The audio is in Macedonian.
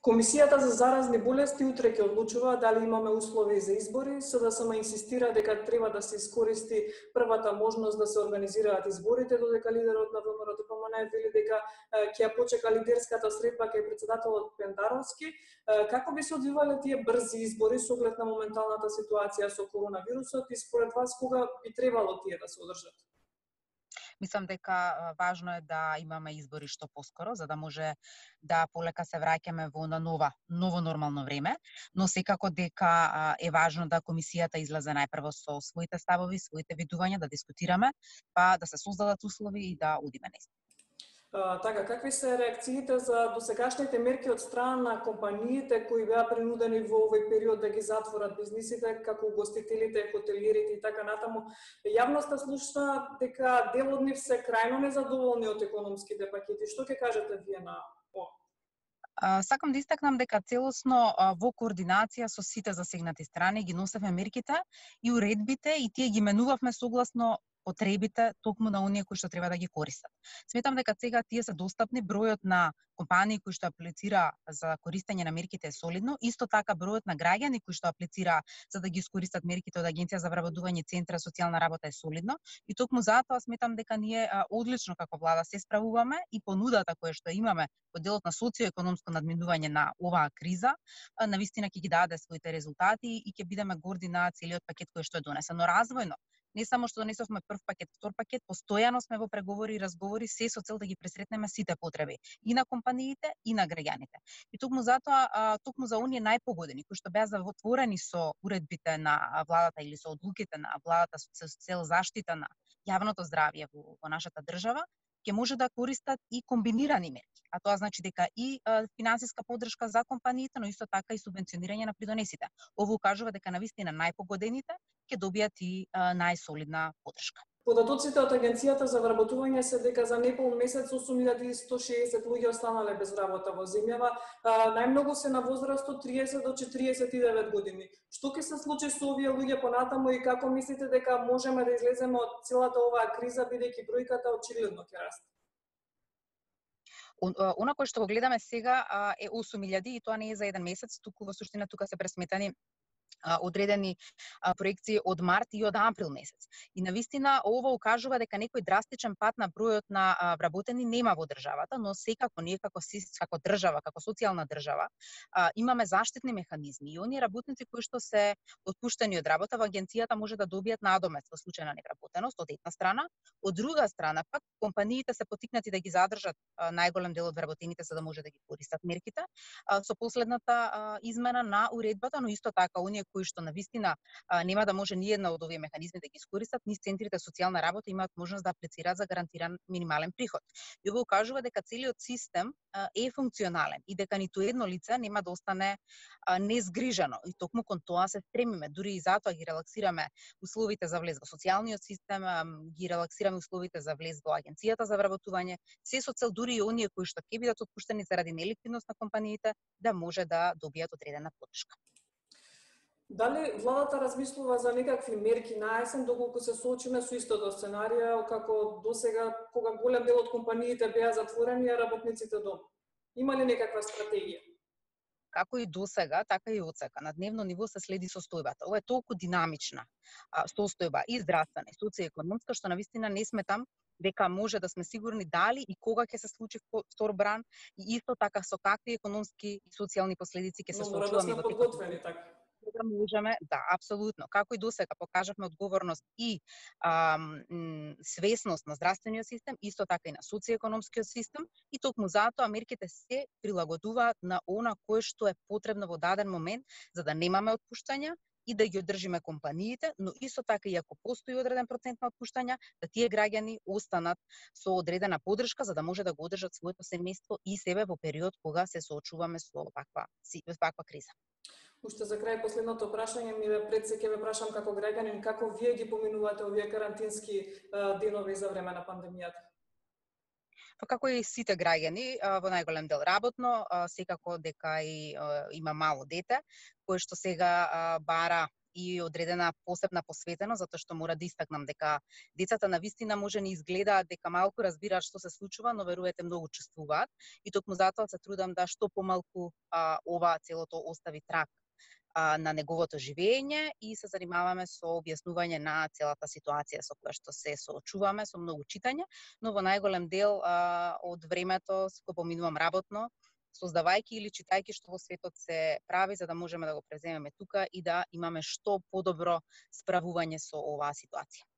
Комисијата за заразни болести утре ќе одлучува дали имаме услови за избори. СДСМ инсистира дека треба да се искористи првата можност да се организираат изборите, додека лидерот на ВМРО-ДПМН вели дека ќе ја почека лидерската средба кај претседателот Пендаровски. Како би се одвивале тие брзи избори со оглед на моменталната ситуација со коронавирусот и според вас кога би требало тие да се одржат? Мислам дека важно е да имаме избори што поскоро, за да може да полека се враќаме во ново нормално време, но секако дека е важно да комисијата излезе најпрво со своите ставови, своите видувања, да дискутираме, па да се создадат услови и да одиме наистина. Така, какви се реакциите за досегашните мерки од страна на компаниите кои беа принудени во овој период да ги затворат бизнисите, како угостителите, хотелирите и така натаму? Јавноста слушна дека дел од нив се крајно незадоволни од економските пакети. Што ќе кажете вие на ова? Сакам да истакнам дека целосно во координација со сите засегнати страни ги носевме мерките и уредбите и тие ги менувавме согласно потребите токму на оние кои што треба да ги користат. Сметам дека сега тие се достапни, бројот на компании кои што аплицира за користење на мерките е солидно, исто така бројот на граѓани кои што аплицира за да ги искористат мерките од Агенција за вработување, Центра социјална работа е солидно и токму затоа сметам дека ние одлично како влада се справуваме и понудата која што имаме во делот на социоекономско надминување на оваа криза, навистина ќе ги даде своите резултати и ќе бидеме горди на целиот пакет кој што е донесен. Но развојно, не само што донесовме прв пакет, втор пакет, постојано сме во преговори и разговори се со цел да ги пресретнеме сите потреби и на компаниите и на граѓаните. И токму затоа, токму за оние најпогодени кои што беа затворени со уредбите на владата или со одлуките на владата со цел заштита на јавното здравје во нашата држава, ќе може да користат и комбинирани мерки. А тоа значи дека и финансиска поддршка за компаниите, но исто така и субвенционирање на придонесите. Ово укажува дека навистина најпогодените ќе добијат и најсолидна поддршка. Податоците од Агенцијата за вработување се дека за непол месец 8160 луѓе останале без работа во земјава, најмногу се на возраст од 30 до 49 години. Што ќе се случи со овие луѓе понатаму и како мислите дека можеме да излеземе од целата оваа криза, бидејќи бројката очигледно ќе расте? Она кое што го гледаме сега е 8000 и тоа не е за еден месец, туку во суштина тука се пресметани одредени проекции од март и од април месец. И навистина ова укажува дека некој драстичен пат на бројот на вработени нема во државата, но секако ние како држава, како социјална држава, имаме заштитни механизми и оние работници кои што се отпуштени од работа во агенцијата може да добијат надомест во случај на невработеност од една страна, од друга страна пак компаниите се поттикнати да ги задржат најголем дел од вработените за да може да ги користат мерките со последната измена на уредбата, но исто така оние кои што навистина нема да може ни една од овие механизми да ги искористат, низ центрите социјална работа имаат можност да аплицираат за гарантиран минимален приход. И ова укажува дека целиот систем е функционален и дека ниту едно лице нема да остане незгрижено. И токму кон тоа се стремиме, дури и затоа ги релаксираме условите за влез во социјалниот систем, ги релаксираме условите за влез во Агенцијата за вработување, се со цел дури и оние кои што ќе бидат отпуштени заради неликвидност на компаниите да може да добијат одредена поддршка. Дали владата размислува за некакви мерки на есен, доколку се соочиме со истото сценарија, како досега, кога голем дел од компаниите беа затворени, а работниците дома? Има ли некаква стратегија? Како и досега, така и одсека. На дневно ниво се следи состојбата. Ова е толку динамична состојба и здравствена, и социјоекономска, што навистина не сметам дека може да сме сигурни дали и кога ќе се случи втор бран и исто така со какви економски и социјални последици ќе се соочуваме. Но мора да сме подготвени, така? Да можеме, да, апсолутно. Како и досега покажавме одговорност и свесност на здравствениот систем, исто така и на социјоекономскиот систем, и токму затоа мерките се прилагодуваат на она кое што е потребно во даден момент, за да немаме отпуштања и да ги одржиме компаниите, но исто така и ако постои одреден процент на отпуштања, да тие граѓани останат со одредена поддршка за да може да го одржат своето семејство и себе во период кога се соочуваме со ваква криза. Уште за крај последното прашање ми пред се ќе ве прашам како граѓанин како вие ги поминувате овие карантински денови за време на пандемијата? Па како и сите граѓани, во најголем дел работно, секако дека и има мало дете, кое што сега бара и одредена посебна посветеност, затоа што мора да истакнам дека децата навистина може не изгледаат дека малку разбираат што се случува, но верувате многу чувствуваат и токму затоа се трудам да што помалку ова целото остави траг на неговото живење и се занимаваме со објаснување на целата ситуација со која што се соочуваме, со многу читање, но во најголем дел од времето го поминувам работно, создавајќи или читајќи што во светот се прави, за да можеме да го преземеме тука и да имаме што подобро справување со оваа ситуација.